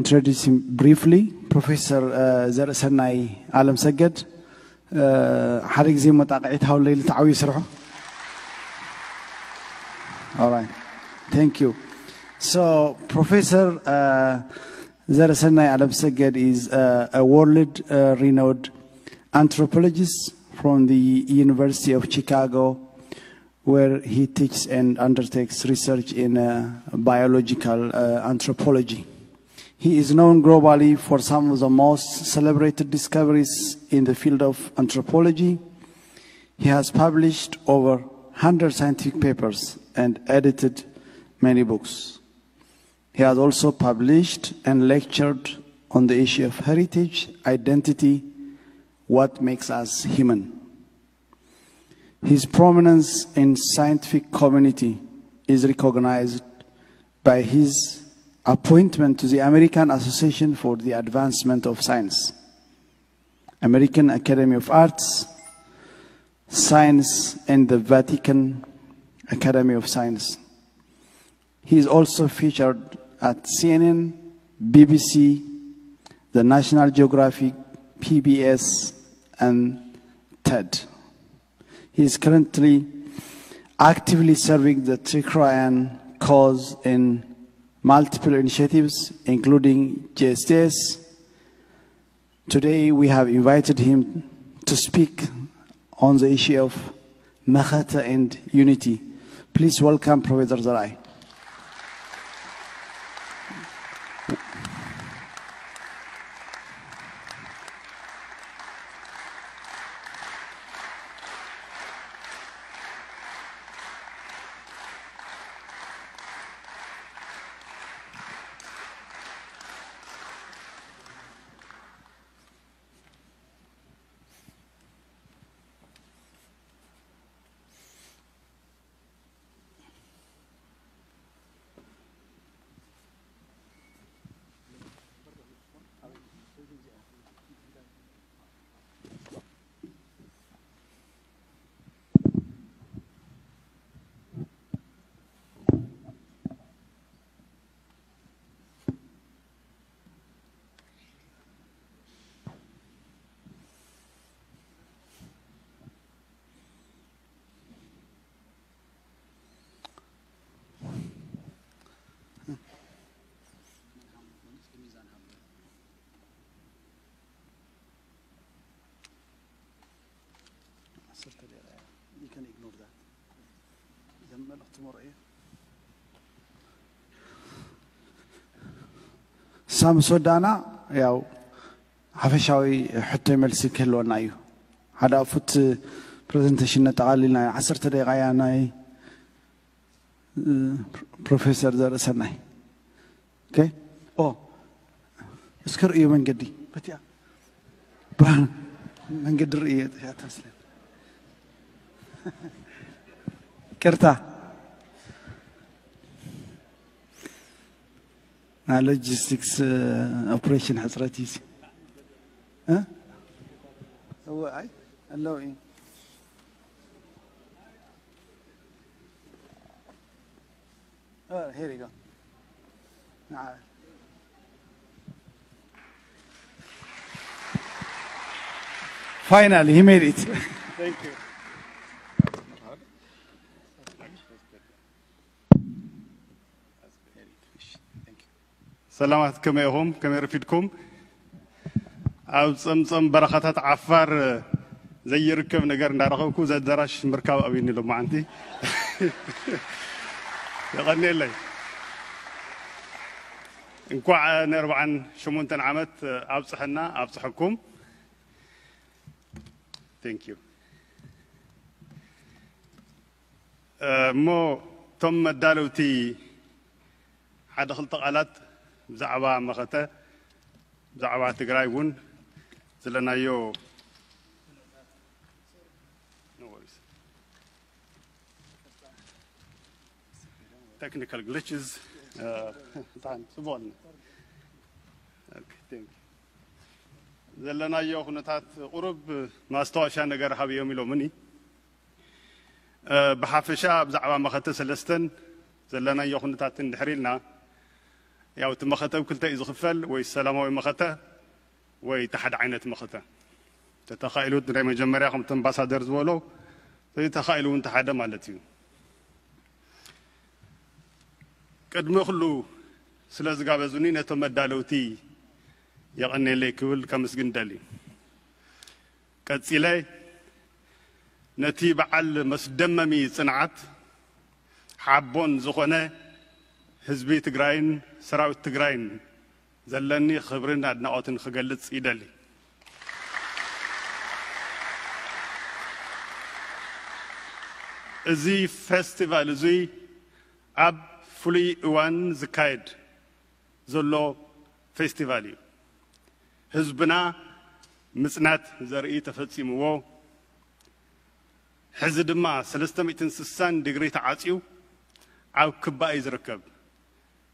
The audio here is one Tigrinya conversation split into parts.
Introduce him briefly. Professor uh, ዘርእሰናይ ዓለም ሰገድ uh, ሓደ ግዜ መጣቕዒት ሃውለይ ልተዓውዩ ስርሑ። All right. Thank you. So, Professor uh, ዘርእሰናይ ዓለም ሰገድ is uh, a world uh, renowned anthropologist from the University of Chicago, where he teaches and undertakes research in uh, biological uh, anthropology. He is known globally for some of the most celebrated discoveries in the field of anthropology. He has published over one hundred scientific papers and edited many books. He has also published and lectured on the issue of heritage, identity, what makes us human. His prominence in scientific community is recognized by his appointment to the American Association for the Advancement of Science, American Academy of Arts, Science, and the Vatican Academy of Science. He is also featured at C N N, B B C, the National Geographic, P B S, and TED. He is currently actively serving the Tigrayan cause in multiple initiatives, including G S T S. Today, we have invited him to speak on the issue of Mekete and unity. Please welcome Professor Zerai. ሳምሶዳና ያው ሓፈሻዊ ሕቶ መልሲ ክህልወና እዩ። ሓደ ኣፉት ፕሬዘንቴሽን ነጠቓሊልና፣ ዓሰርተ ደቂቃ እያ ናይ ፕሮፌሰር ዘርእሰናይ። ኦኬ። ኦ እስከ ርእዮ መንገዲ በቲያ መንገዲ ርእየ እያ ትመስለኒ። ቅርታ። ናይ ሎጂስቲክስ ኦፕሬሽን ሕፅረት እዩ። እወ ኣይ ኣለዉ እዩ። Here you go. Finally, he made it. Thank you. ሰላማት፣ ከመይ ኢኹም? ከመይ ረፊድኩም? ኣብ ጸምጸም በረኻታት ዓፋር ዘይርከብ ነገር እንዳረኸብኩ፣ እዚ ኣዳራሽ ምርካብ ኣብዩኒ ሎማዓንቲ። የቐንየለይ። እንኳዕ ንኣርብዓን ሸሞንተን ዓመት ኣብጽሐና፣ ኣብጽሐኩም። Thank you። እሞ እቶም መዳለውቲ ሓደ ክልተ ቃላት ብዛዕባ መኸተ፣ ብዛዕባ ትግራይ እውን ዘለናዮ technical glitches፣ እ፣ ብጣዕሚ ጽቡቕ ኣለና። ኦኬ፣ thank you። ዘለናዮ ኩነታት ቁሩብ ማስታወሻ ነገር ሃብዮም ኢሎምኒ። እ፣ ብሓፈሻ ብዛዕባ መኸተ ሰለስተን ዘለናዮ ኩነታት እንድሕር ኢልና፣ ያው እቲ መኸተ ኣብ ክልተ እዩ ዝኽፈል፣ ወይ ሰላማዊ መኸተ ወይ እቲ ሓደ ዓይነት መኸተ። ተተኻኢሉ ናይ መጀመርያ ከምቲ ኣምባሳደር ዝበሎ፣ ተተኻኢሉ እውን እቲ ሓደ ማለት እዩ። ቅድሚ ኩሉ ስለ ዝጋበዙኒ ነቶም መዳለውቲ የቐንየለይ ክብል ከምስግን ደሊ። ቀጺለ ነቲ በዓል መስደመሚ ጽንዓት ሓቦን ዝኾነ ህዝቢ ትግራይን ሰራዊት ትግራይን ዘለኒ ክብርን ኣድናቖትን ክገልጽ ይደሊ። እዚ ፌስቲቫል እዙይ ኣብ ፍሉይ እዋን ዝካየድ ዘሎ ፌስቲቫል እዩ። ህዝብና ምጽናት ዘርኢ ተፈጺምዎ፣ ሕዚ ድማ ሰለስተ ሚእትን ስሳን ዲግሪ ተዓጽዩ ኣብ ክባ እዩ ዝርከብ።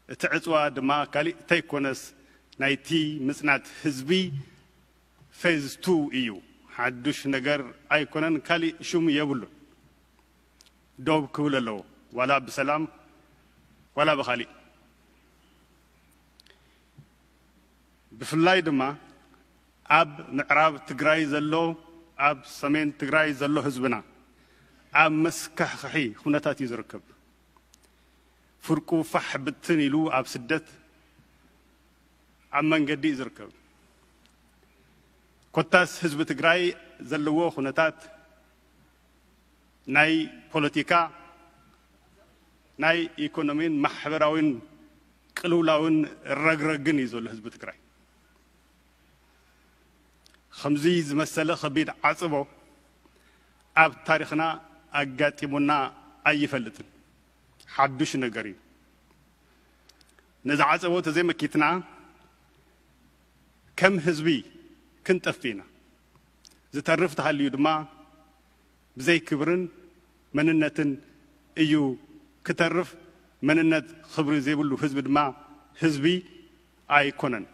እቲ ዕጽዋ ድማ ካሊእ እንተይኮነስ ናይቲ ምጽናት ህዝቢ ፌዝ ቱ እዩ። ሓዱሽ ነገር ኣይኮነን፣ ካሊእ ሽሙ የብሉን። ደው ክብል ኣለዎ፣ ዋላ ብሰላም ዋላ ብኻሊእ። ብፍላይ ድማ ኣብ ምዕራብ ትግራይ ዘሎ፣ ኣብ ሰሜን ትግራይ ዘሎ ህዝብና ኣብ መስካሕኽሒ ኩነታት እዩ ዝርከብ። ፍርቁ ፋሕ ብትን ኢሉ ኣብ ስደት ኣብ መንገዲ እዩ ዝርከብ። ኮታስ ህዝቢ ትግራይ ዘለዎ ኩነታት ናይ ፖለቲካ፣ ናይ ኢኮኖሚን ማሕበራዊን ቅልውላውን ረግረግን እዩ ዘሎ ህዝቢ ትግራይ። ከምዚ ዝመሰለ ከቢድ ዓጽቦ ኣብ ታሪኽና ኣጋጢሙና ኣይፈልጥን። ሓዱሽ ነገር እዩ። ነዚ ዓጸቦ ተዘይመኪትና ከም ህዝቢ ክንጠፍእ ኢና። ዝተርፍ ተሃልዩ ድማ ብዘይ ክብርን መንነትን እዩ ክተርፍ። መንነት ክብሪ ዘይብሉ ህዝቢ ድማ ህዝቢ ኣይኮነን።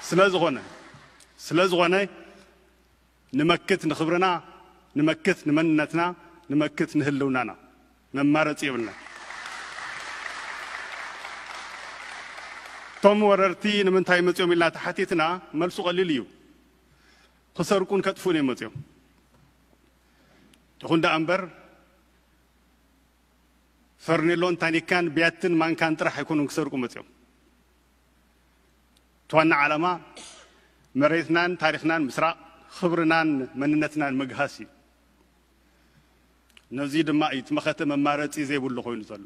ስለ ዝኾነ ስለ ዝኾነ ንመክት ንኽብርና፣ ንመክት ንመንነትና፣ ንመክት ንህልውናና። መማረፂ የብልና። እቶም ወረርቲ ንምንታይ መፂኦም ኢልና ተሓቲትና፣ መልሱ ቀሊል እዩ። ክሰርቁን ከጥፍኡን እዮም መፂኦም። ይኹን ደኣ እምበር ፈርኔሎን ታኒካን ብያትን ማንካን ጥራሕ ኣይኮኑን ክሰርቁ መፂኦም። እቲ ዋና ዓላማ መሬትናን ታሪኽናን ምስራቕ፣ ክብርናን መንነትናን ምግሃስ እዩ። ነዚ ድማ እዩ እቲ መኸተ መማረፂ ዘይብሉ ኮይኑ ዘሎ።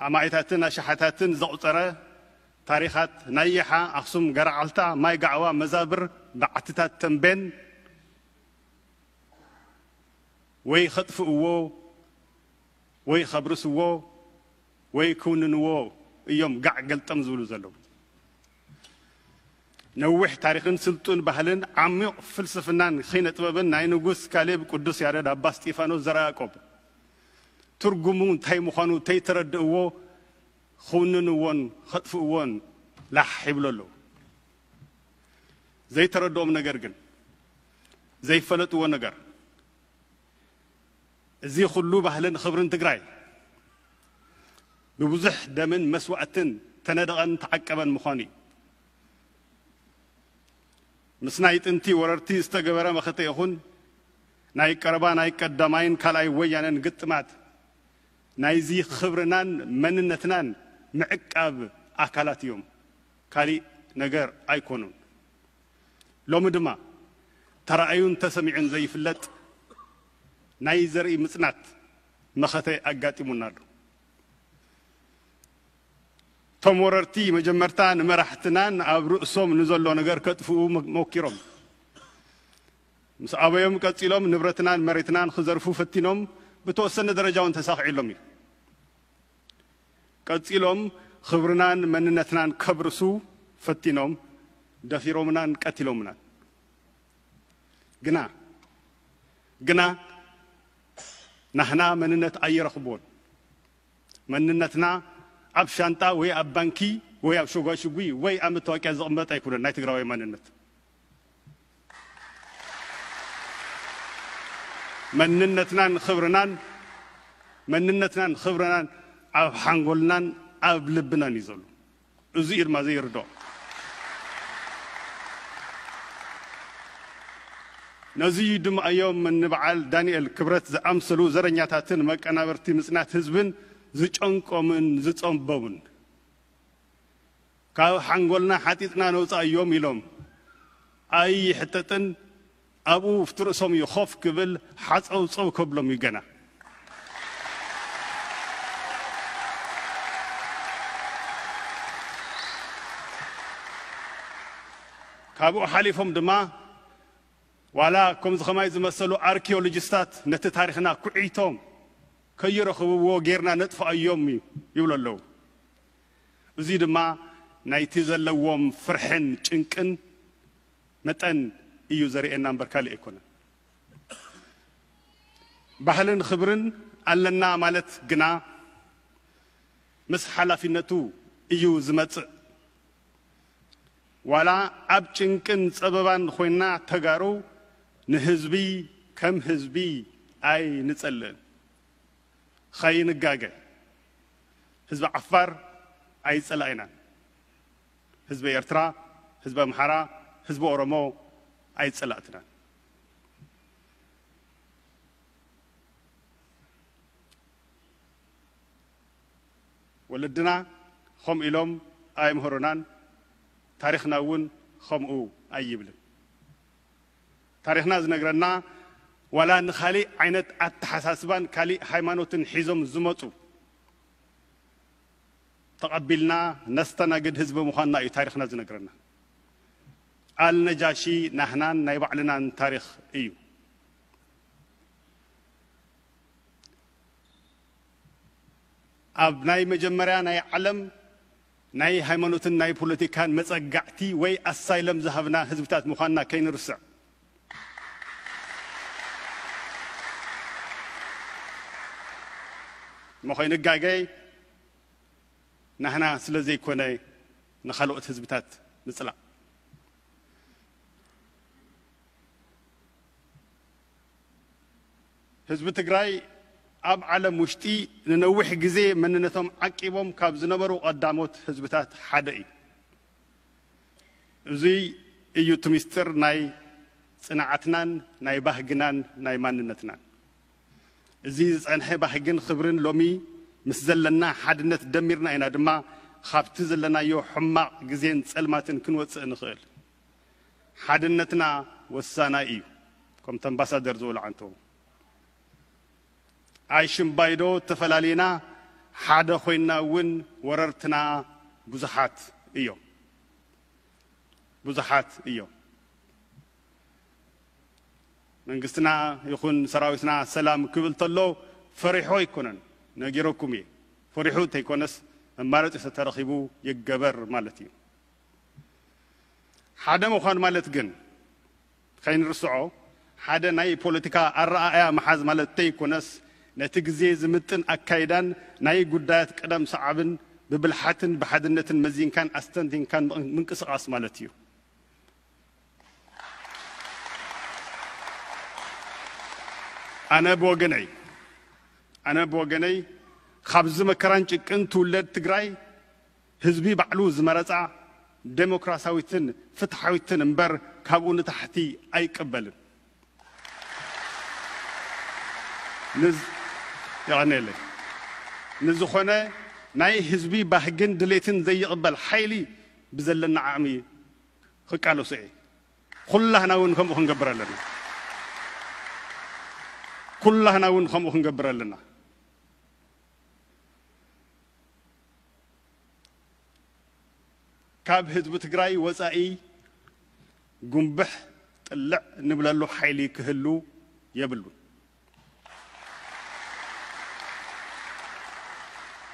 ኣማኢታትን ኣሽሓታትን ዘቑፀረ ታሪኻት ናይ ይሓ፣ ኣኽሱም፣ ገረዓልታ፣ ማይ ጋዕዋ፣ መዛብር፣ በዓትታት ተምቤን ወይ ከጥፍእዎ ወይ ከብርስዎ ወይ ክውንንዎ እዮም ጋዕ ገልጠም ዝብሉ ዘለዉ። ነዊሕ ታሪኽን ስልጡን ባህልን ዓሚቕ ፍልስፍናን ኪነ ጥበብን ናይ ንጉስ ካሌብ፣ ቅዱስ ያሬድ፣ ኣባ እስጢፋኖስ፣ ዘርኣያቆብ ትርጉሙ እንታይ ምዃኑ ተይተረድእዎ ክውንንዎን ከጥፍእዎን ላሕ ይብሉ ኣለዉ። ዘይተረድኦም ነገር ግን፣ ዘይፈለጥዎ ነገር፣ እዚ ኩሉ ባህልን ክብርን ትግራይ ብብዙሕ ደምን መስዋእትን ተነደቐን ተዓቀበን ምዃኑ እዩ። ምስ ናይ ጥንቲ ወረርቲ ዝተገበረ መኸተ ይኹን ናይ ቀረባ ናይ ቀዳማይን ካልኣይ ወያነን ግጥማት ናይዚ ክብርናን መንነትናን ምዕቃብ ኣካላት እዮም። ካሊእ ነገር ኣይኮኑን። ሎሚ ድማ ተራእዩን ተሰሚዑን ዘይፍለጥ ናይ ዘርኢ ምጽናት መኸተ ኣጋጢሙና ኣሎ። እቶም ወረርቲ መጀመርታ ንመራሕትናን ኣብ ርእሶም ንዘሎ ነገር ከጥፍኡ መ-፣ ሞኪሮም። ምስ ኣበዮም ቀጺሎም ንብረትናን መሬትናን ክዘርፉ ፈቲኖም፣ ብተወሰነ ደረጃ እውን ተሳኺዕሎም እዩ። ቀጺሎም ክብርናን መንነትናን ከብርሱ ፈቲኖም፣ ደፊሮምናን ቀቲሎምናን። ግና፣ ግና ናህና መንነት ኣይረኽብዎን። መንነትና ኣብ ሻንጣ ወይ ኣብ ባንኪ ወይ ኣብ ሸጓሽጉ ወይ ኣብ መታወቂያ ዝቕመጥ ኣይኮነን ናይ ትግራዋይ መንነት። መንነትናን ክብርናን መንነትናን ክብርናን ኣብ ሓንጎልናን ኣብ ልብናን እዩ ዘሎ። እዚ እዩ ድማ ዘይርድኦ። ነዚ እዩ ድማ እዮም ንበዓል ዳንኤል ክብረት ዝኣምሰሉ ዘረኛታትን መቀናበርቲ ምጽናት ህዝብን ዝጨንቆምን ዝጸንቦምን። ካብ ሓንጎልና ሓጢጥና ነውጻእዮም ኢሎም ኣይሕጠጥን። ኣብኡ ኣብቲ ርእሶም እዩ ኮፍ ክብል፣ ሓጸውጸው ከብሎም እዩ ገና። ካብኡ ሓሊፎም ድማ ዋላ ከምዚ ከማይ ዝመሰሉ ኣርኪኦሎጂስታት ነቲ ታሪኽና ኩዒቶም ከይረኽብዎ ጌርና ነጥፍኣዮም እዩ ይብሉ ኣለዉ። እዚ ድማ ናይቲ ዘለዎም ፍርሕን ጭንቅን መጠን እዩ ዘርእየና እምበር ካልእ ኣይኮነን። ባህልን ክብርን ኣለና ማለት ግና ምስ ሓላፊነቱ እዩ ዝመጽእ። ዋላ ኣብ ጭንቅን ጸበባን ኮይና ተጋሩ ንህዝቢ ከም ህዝቢ ኣይንጸልእን። ኸይንጋገ፣ ህዝቢ ዓፋር ኣይጸላኢናን። ህዝቢ ኤርትራ፣ ህዝቢ ኣምሓራ፣ ህዝቢ ኦሮሞ ኣይጸላእትናን። ወለድና ከምኡ ኢሎም ኣይምህሩናን። ታሪኽና እውን ከምኡ ኣይብልን። ታሪኽና ዝነግረና ዋላ ንኻሊእ ዓይነት ኣተሓሳስባን ካሊእ ሃይማኖትን ሒዞም ዝመጹ ተቐቢልና ነስተናግድ ህዝቢ ምዃንና እዩ ታሪኽና ዝነግረና። ኣልነጃሺ ናህናን ናይ ባዕልናን ታሪኽ እዩ። ኣብ ናይ መጀመርያ ናይ ዓለም ናይ ሃይማኖትን ናይ ፖለቲካን መጸጋዕቲ ወይ ኣሳይለም ዝሃብና ህዝብታት ምዃንና ከይንርስዕ። እሞ ከይንጋገይ ናህና ስለ ዘይኮነ ንኻልኦት ህዝብታት ምጽላእ። ህዝቢ ትግራይ ኣብ ዓለም ውሽጢ ንነዊሕ ግዜ መንነቶም ዓቂቦም ካብ ዝነበሩ ቀዳሞት ህዝብታት ሓደ እዩ። እዚ እዩ እቲ ምስጢር ናይ ጽንዓትናን ናይ ባህግናን ናይ ማንነትናን። እዚ ዝጸንሐ ባህግን ክብርን ሎሚ ምስ ዘለና ሓድነት ደሚርና ኢና ድማ ካብቲ ዘለናዮ ሕማቕ ግዜን ጸልማትን ክንወጽእ ንኽእል። ሓድነትና ወሳናይ እዩ። ከምቲ ኣምባሳደር ዝበሎ ዓንተቦ፣ ኣይሽምባይዶ ተፈላሊና ሓደ ኮይና እውን ወረርትና ብዙሓት እዮም። ብዙሓት እዮም። መንግስትና ይኹን ሰራዊትና ሰላም ክብል ተሎ ፈሪሖ ኣይኮነን፣ ነጊረኩም እየ። ፈሪሑ እንተይኮነስ መማረፂ ተተረኺቡ ይገበር ማለት እዩ። ሓደ ምዃን ማለት ግን ከይንርስዖ፣ ሓደ ናይ ፖለቲካ ኣረኣእያ ምሓዝ ማለት እንተይኮነስ፣ ነቲ ግዜ ዝምጥን ኣካይዳን ናይ ጉዳያት ቅደም ሰዓብን ብብልሓትን ብሓድነትን መዚንካን ኣስተንቲንካን ምንቅስቓስ ማለት እዩ። ኣነ ብወገነይ ኣነ ብወገነይ ካብዚ መከራን ጭቅን ትውለድ ትግራይ ህዝቢ ባዕሉ ዝመረፃ ዴሞክራሲያዊትን ፍትሓዊትን እምበር ካብኡ ንታሕቲ ኣይቀበልን። ንዝ-፣ የቐንየለይ። ንዝኾነ ናይ ህዝቢ ባህግን ድሌትን ዘይቕበል ሓይሊ ብዘለና ዓቕሚ ክቃለሶ እየ። ኩላህና እውን ከምኡ ክንገብር ኣለና። ኩላህና እውን ከምኡ ክንገብር ኣለና። ካብ ህዝቢ ትግራይ ወፃኢ ጉንብሕ ጥልዕ ንብለሉ ሓይሊ ክህሉ የብሉን።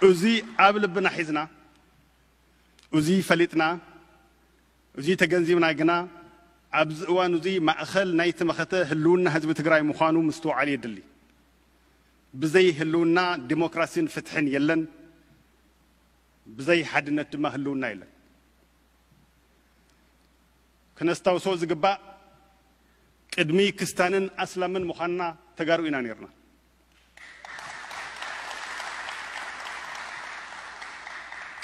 እዚ ኣብ ልብና ሒዝና፣ እዚ ፈሊጥና፣ እዚ ተገንዚብና ግና ኣብዚ እዋን እዚ ማእኸል ናይቲ መኸተ ህልውና ህዝቢ ትግራይ ምዃኑ ምስትውዓል የድሊ። ብዘይ ህልውና ዲሞክራሲን ፍትሕን የለን። ብዘይ ሓድነት ድማ ህልውና የለን። ክነስታውሶ ዝግባእ ቅድሚ ክስታንን ኣስላምን ምዃንና ተጋሩ ኢና ነይርና።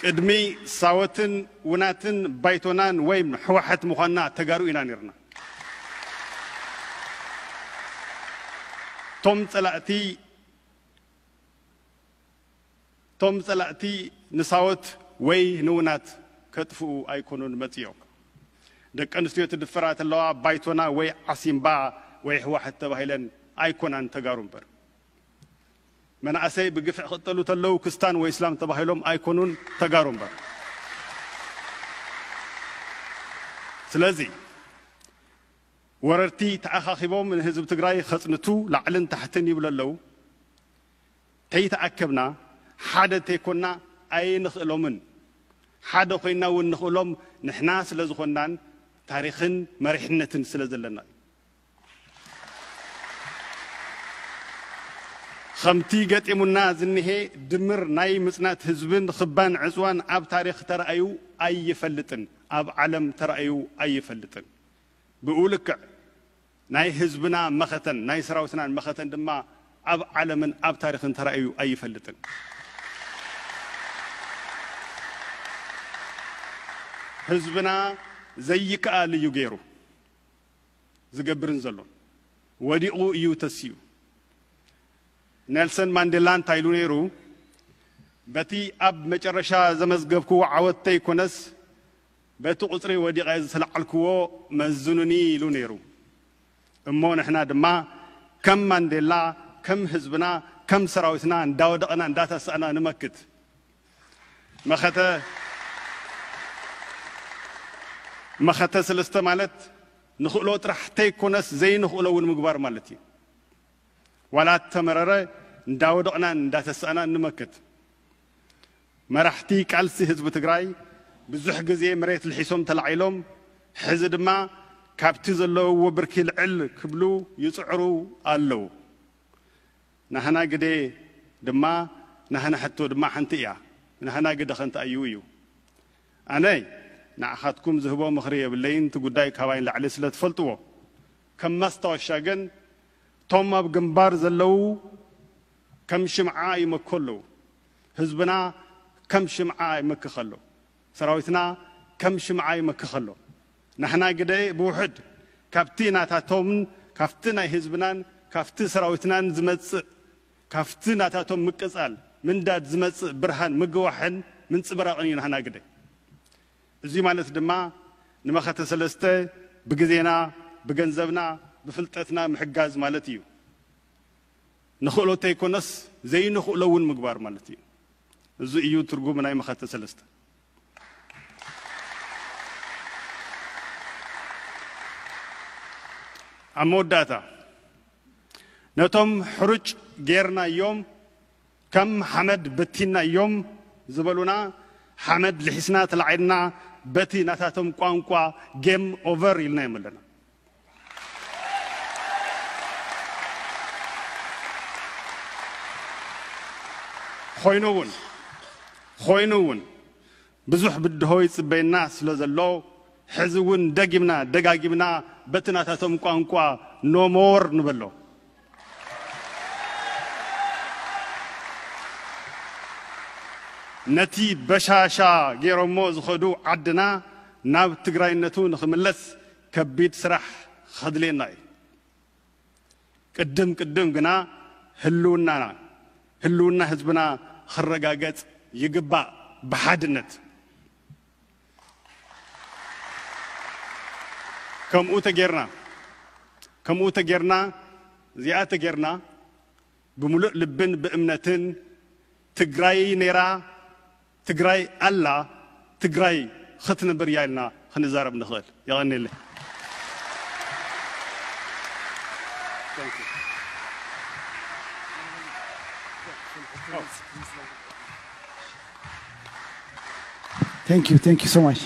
ቅድሚ ሳወትን ውናትን ባይቶናን ወይም ህወሓት ምዃንና ተጋሩ ኢና ነይርና። ቶም ጸላእቲ ቶም ጸላእቲ ንሳወት ወይ ንውናት ከጥፍኡ ኣይኮኑን መጽዮም። ደቂ ኣንስትዮ ትድፈራ ተለዋ ባይቶና ወይ ዓሲምባ ወይ ህወሓት ተባሂለን ኣይኮናን ተጋሩ እምበር። መናእሰይ ብግፍዕ ክጠሉ ተለው ክስታን ወይ እስላም ተባሂሎም ኣይኮኑን ተጋሩ እምበር። ስለዚ ወረርቲ ተኣኻኺቦም ንህዝቢ ትግራይ ከጽንቱ ላዕልን ታሕትን ይብሉ ኣለዉ። ተይተኣከብና፣ ሓደ ተይኮንና ኣይንኽእሎምን። ሓደ ኮይንና እውን ንኽእሎም ንሕና ስለ ዝኾንናን ታሪኽን መሪሕነትን ስለ ዘለና እዩ። ከምቲ ገጢሙና ዝንሄ ድምር ናይ ምጽናት ህዝብን ኽባን ዕጽዋን ኣብ ታሪኽ ተራእዩ ኣይፈልጥን፣ ኣብ ዓለም ተራእዩ ኣይፈልጥን። ብኡ ልክዕ ናይ ህዝብና መኸተን ናይ ሰራዊትናን መኸተን ድማ ኣብ ዓለምን ኣብ ታሪኽን ተራእዩ ኣይፈልጥን። ህዝብና ዘይከኣል እዩ ገይሩ ዝገብርን ዘሎን። ወዲቑ እዩ ተሲኡ። ኔልሰን ማንዴላ እንታይ ኢሉ ነይሩ? በቲ ኣብ መጨረሻ ዘመዝገብክዎ ዓወት ተይኮነስ በቲ ቁጽሪ ወዲቐ ዝተላዓልክዎ መዝኑኒ ኢሉ ነይሩ። እሞ ንሕና ድማ ከም ማንዴላ፣ ከም ህዝብና፣ ከም ሰራዊትና እንዳወደቕና እንዳተሳእና ንመክት። መኸተ መኸተ ሰለስተ ማለት ንኽእሎ ጥራሕ ተይኮነስ ዘይንኽእሎ እውን ምግባር ማለት እዩ። ዋላ ተመረረ እንዳወደቕናን እንዳተሳእናን ንመክት። መራሕቲ ቃልሲ ህዝቢ ትግራይ ብዙሕ ግዜ መሬት ልሒሶም ተላዒሎም፣ ሕዚ ድማ ካብቲ ዘለውዎ ብርኪ ልዕል ክብሉ ይጽዕሩ ኣለዉ። ናህና ግደ ድማ፣ ናህና ሕቶ ድማ ሓንቲ እያ። ናህና ግደ ኸንተኣዩ እዩ። ኣነ ንዓኻትኩም ዝህቦ ምኽሪ የብለይን፣ እቲ ጉዳይ ካባይ ንላዕሊ ስለ ትፈልጥዎ። ከም ማስታወሻ ግን፣ እቶም ኣብ ግንባር ዘለዉ ከም ሽምዓ ይመኩ ኣለዉ። ህዝብና ከም ሽምዓ ይመክኽ ኣሎ። ሰራዊትና ከም ሽምዓ ይመክኽ ኣሎ። ናህና ግደ ብውሕድ ካብቲ ናታቶምን ካብቲ ናይ ህዝብናን ካብቲ ሰራዊትናን ዝመጽእ፣ ካብቲ ናታቶም ምቅጻል ምንዳድ ዝመጽእ ብርሃን ምግዋሕን ምንጽብራቕን እዩ ናህና ግደ። እዚ ማለት ድማ ንመኸተ ሰለስተ ብግዜና፣ ብገንዘብና፣ ብፍልጠትና ምሕጋዝ ማለት እዩ። ንኽእሎ ተይኮነስ ዘይንኽእሎ እውን ምግባር ማለት እዩ። እዚ እዩ ትርጉም ናይ መኸተ ሰለስተ። ኣብ መወዳእታ ነቶም ሕሩጭ ጌርናዮም ከም ሓመድ በቲንናዮም ዝበሉና፣ ሓመድ ልሒስና ተላዒልና በቲ ናታቶም ቋንቋ ጌም ኦቨር ኢልናዮም ኣለና። ኮይኑ እውን ኮይኑ እውን ብዙሕ ብድሆ ይጽበየና ስለ ዘሎ፣ ሕዚ እውን ደጊምና ደጋጊምና በቲ ናታቶም ቋንቋ ኖሞር ንበሎ። ነቲ በሻሻ ገይሮሞ ዝኸዱ ዓድና ናብ ትግራይነቱ ንኽምለስ ከቢድ ስራሕ ከድልየና እዩ። ቅድም ቅድም ግና ህልውናና፣ ህልውና ህዝብና ክረጋገጽ ይግባእ ብሓድነት። ከምኡ ተጌርና፣ ከምኡ ተጌርና፣ እዚኣ ተጌርና፣ ብምሉእ ልብን ብእምነትን ትግራይ ነይራ፣ ትግራይ ኣላ፣ ትግራይ ክትነብር እያ ኢልና ክንዛረብ ንኽእል። የቐንየለይ። Thank you, thank you so much.